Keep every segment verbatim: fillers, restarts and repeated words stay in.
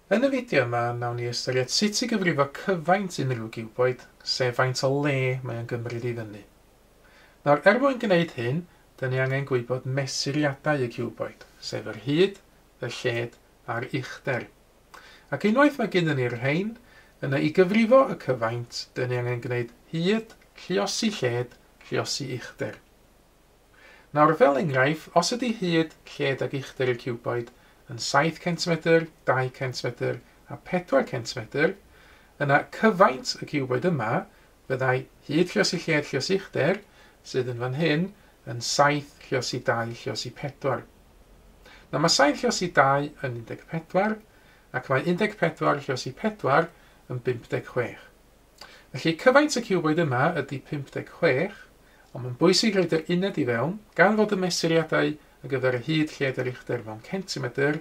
Yn y fideo yma, nawn ni ystyried sut i gyfrifo cyfaint unrhyw giwboid, sef faint o le mae o'n gymryd i fyny. Nawr, er mwyn gwneud hyn, dyn ni angen gwybod mesuriadau y ciwboid, sef yr hyd, y lled a'r uchder. Ac unwaith mae gennym ni'r rhain, yna i gyfrifo y cyfaint, dyn ni angen gwneud hyd, lluosi lled, lluosi uchder. Nawr, fel enghraifft, os ydy hyd, lled ac uchder y ciwboid yn saith centimetr, dau centimetr a pedwar centimetr, yna cyfaint y ciwboid yma fyddai hyd lluosi lled lluosi uchder, sydd yn fan hyn, yn saith lluosi dau lluosi pedwar. Nawr mae saith lluosi dau yn un deg pedwar, ac mae un deg pedwar lluosi pedwar yn bump deg chwech. Felly cyfaint y ciwboid yma ydy pump deg chwech, ond mae'n bwysig rhoid yr uned i fewn, gan fod y mesuriadau ar gyfer y hyd, lled a'r uchder mewn centimetr,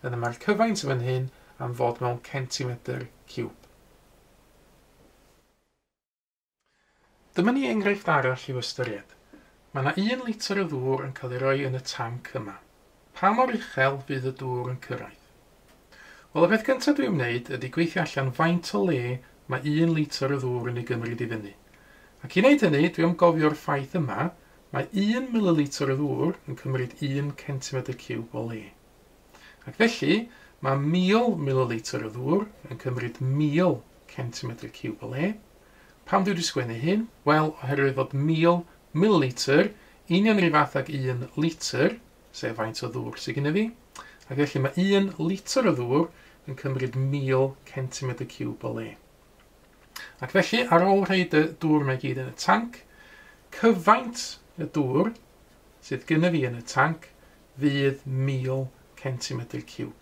yna mae'r cyfaint yn fan hyn am fod mewn centimetr ciwb. Dyma ni enghraifft arall i'w ystyried. Mae yna un litr o ddŵr yn cael ei roi yn y tanc yma. Pa mor uchel fydd y dŵr yn cyrraedd? Wel, y peth cyntaf dwi'n wneud ydy gweithio allan faint o le mae un litr o ddŵr yn ei gymryd i fyny. Ac i wneud hynny, dwi am gofio'r ffaith yma, mae un mililitr o ddŵr yn cymryd un centimetr ciwb o le. Ac felly, mae mil mililitr o ddŵr yn cymryd mil centimetr ciwb o le. Pam dwi wedi sgwennu hyn? Wel, oherwydd fod mil mililitr union yr un fath ag un litr, sef faint o ddŵr sydd gennym fi. Ac felly mae un litr o ddŵr yn cymryd mil centimetr ciwb o le. Ac felly, ar ôl rhoid y dŵr mae gyd yn y tanc, cyfaint y dŵr sydd gennym fi yn y tanc fydd mil centimetr ciwb.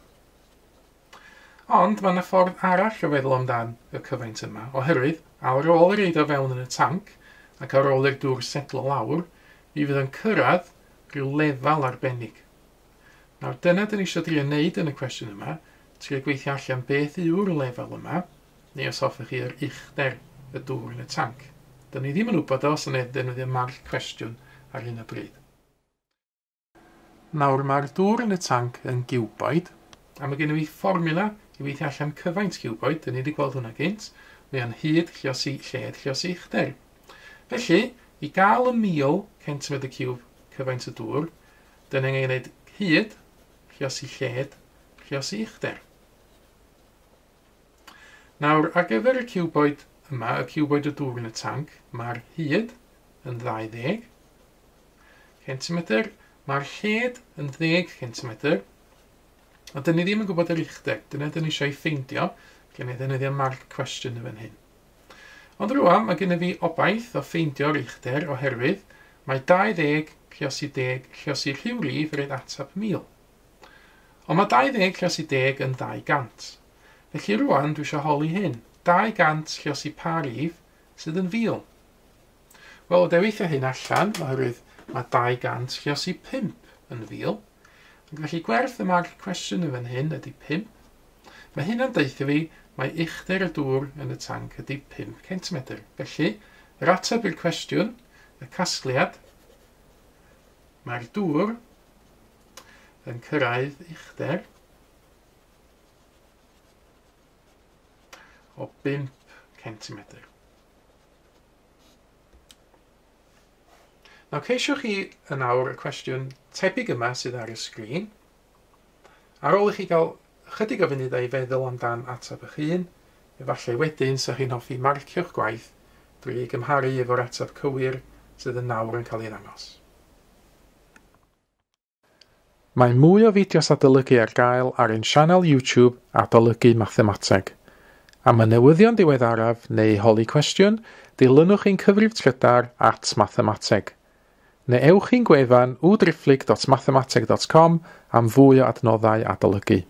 Ond mae yna ffordd arall o feddwl amdan y cyfaint yma, oherwydd ar ôl ei roid o fewn yn y tanc ac ar ôl i'r dŵr setlo lawr, mi fydd yn cyrraedd rhyw lefel arbennig. Nawr dyna dyn ni eisiau drio wneud yn y cwestiwn yma, trio gweithio allan beth yw'r lefel yma, neu os hoffech chi yr uchder y dŵr yn y tanc. Dyn ni ddim yn wybod os yna ddefnyddio marc cwestiwn ar hyn o bryd. Nawr mae'r dŵr yn y tanc yn giwboid, a mae gennym fi fformiwla i weithio allan cyfaint ciwboid, dyn ni wedi gweld hwnna gynt, mae o'n hyd lluosi lled lluosi uchder. Felly, i gael y mil centimetr ciwb cyfaint y dŵr, dyn ni angen gwneud hyd lluosi lled lluosi uchder. Nawr, ar gyfer y ciwboid yma, y ciwboid y dŵr yn y tanc, mae'r hyd yn ddau ddeg centimetr, mae'r lled yn ddeg centimetr, ond dyn ni ddim yn gwybod yr uchder, dyna dyn ni eisiau ei ffeindio, gen i ddefnyddio marc cwestiwn yn fan hyn. Ond rŵan, mae gennym fi obaith o ffeindio'r uchder oherwydd mae dau ddeg lluosi deg lluosi rhyw rif yn rhoid ateb mil. Ond mae dau ddeg lluosi deg yn ddau gant. Felly rŵan dwi eisiau holi hyn, dau gant lluosi pa rif sydd yn fil. Wel, o deweithio hyn allan, oherwydd mae dau gant lluosi pump yn fil. Ac felly gwerth y marc cwestiwn yn fan hyn ydy pump. Mae hynna'n deutha fi mae uchder y dŵr yn y tanc ydy pump centimetr. Felly, yr ateb i'r cwestiwn, y casgliad, mae'r dŵr yn cyrraedd uchder o bump centimetr. Nawr, ceisiwch chi yn awr y cwestiwn tebyg yma sydd ar y sgrin. Ar ôl i chi gael ychydig o funudau i feddwl amdan ateb eich hun, efallai wedyn 'sa chi'n hoffi marcio'ch gwaith drwy ei gymharu efo'r ateb cywir sydd yn nawr yn cael ei ddangos. Mae mwy o fideos adolygu ar gael ar ein sianel YouTube Adolygu Mathemateg. Am y newyddion diweddaraf neu holi cwestiwn, dilynwch ein cyfrif trydar at mathemateg. Neu ewch i'n gwefan w driphlyg dot mathemateg dot com am fwy o adnoddau adolygu.